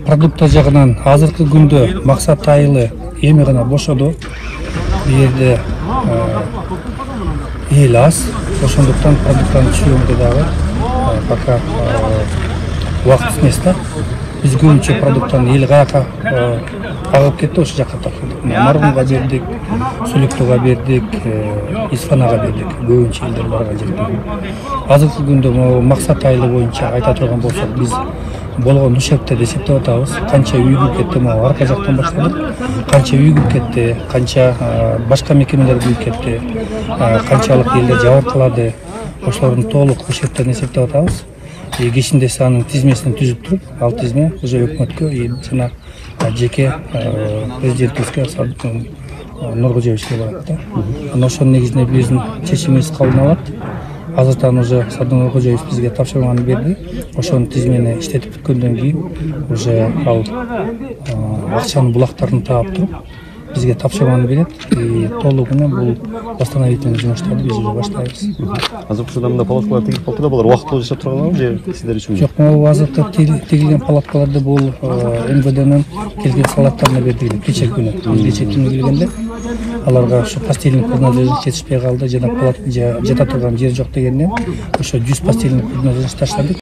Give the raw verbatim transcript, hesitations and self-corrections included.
продукттар жагынан азыркы күндө Максат айылы эми гана бошоду. Бу жерде эл аз, ошондуктан продукттарды түшүрүүгө дагы пока убакыт эмес да. Биз көбүнчө продукттарды эл каяка агып кетти, ошол жакка тапшырдык. Маргунга бердик, Сүлүктөгө бердик, Исфанага бердик. Көбүнчө элдер барган жерде. Азыркы күндө могу Максат айылы боюнча айта турган болсок, биз болгон ушектерди эсептеп атабыз. Канча үй күйүп кетти, могу арка жактан баштадык. Канча үй күйүп кетти, канча башка мекемелер күйүп кетти, канчалык элдер жабыркалады. Ошолордун толук ушектерин эсептеп атабыз. Кечинде анын тизмесин түзүп туруп, ал тизме уже өкмөткө жана жеке президентибизге Нуркожоевичке барат да. Анан ошонун негизинде биздин чечимибиз кабылданат. Азыртан уже Садыр Нуркожоевич бизге тапшырманы берди. Ошонун тизмени иштетип бүткөндөн кийин уже ал акчанын булактарын таап туруп бизге тапшырманы берет. Толугу менен бул восстановительный жумуштарды биз уже баштайбыз. Азыркы учурда мында палаткалар тигилип калды да, булар убактылуу жашап турганбы же сиздер үчүн? Жок, могу азыркы тигилген палаткаларды бул эм вэ дэнин келген солдаттарына бердик кече күнү. Кече түнү келгенде аларга ошо постельный принадлежность жетишпей калды, жана палат жата турган жер жок дегенден ошо жүз постельный принадлежность таштадык.